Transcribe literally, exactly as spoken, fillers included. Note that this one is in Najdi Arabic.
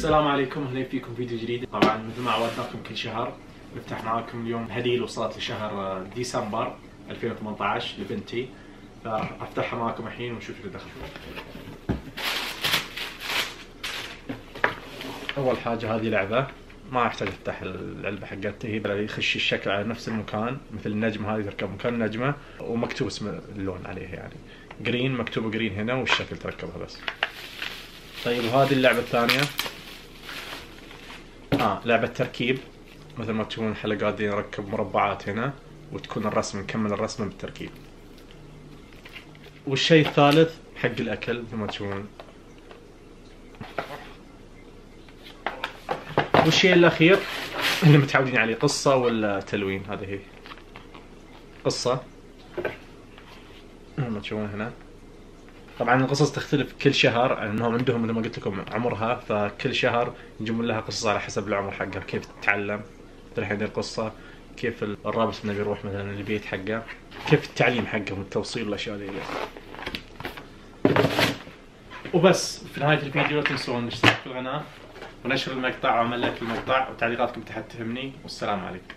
السلام عليكم، اهلا فيكم فيديو جديد. طبعا مثل ما عودناكم كل شهر نفتح معاكم اليوم هدية اللي وصلت لشهر ديسمبر ألفين وثمانية عشر لبنتي، فراح افتحها معاكم الحين ونشوف اللي دخل. اول حاجة هذه لعبة، ما احتاج افتح العلبة حقتها، هي يخش الشكل على نفس المكان مثل النجمة هذه تركب مكان النجمة ومكتوب اسم اللون عليها، يعني جرين مكتوب جرين هنا والشكل تركبها بس. طيب وهذه اللعبة الثانية اه لعبة تركيب، مثل ما تشوفون الحلقات دي نركب مربعات هنا وتكون الرسم نكمل الرسمة بالتركيب. والشيء الثالث حق الأكل مثل ما تشوفون. والشيء الأخير اللي متعودين عليه قصة ولا تلوين، هذه هي قصة مثل ما تشوفون هنا. طبعا القصص تختلف كل شهر، لانهم عندهم مثل ما قلت لكم عمرها، فكل شهر يجيبون لها قصص على حسب العمر حقها، كيف تتعلم الحين القصة، كيف الرابط انه بيروح مثلا البيت حقه، كيف التعليم حقه والتوصيل والاشياء ذي. وبس في نهاية الفيديو لا تنسون الاشتراك في القناة ونشر المقطع وعمل لايك المقطع وتعليقاتكم تحت تهمني، والسلام عليكم.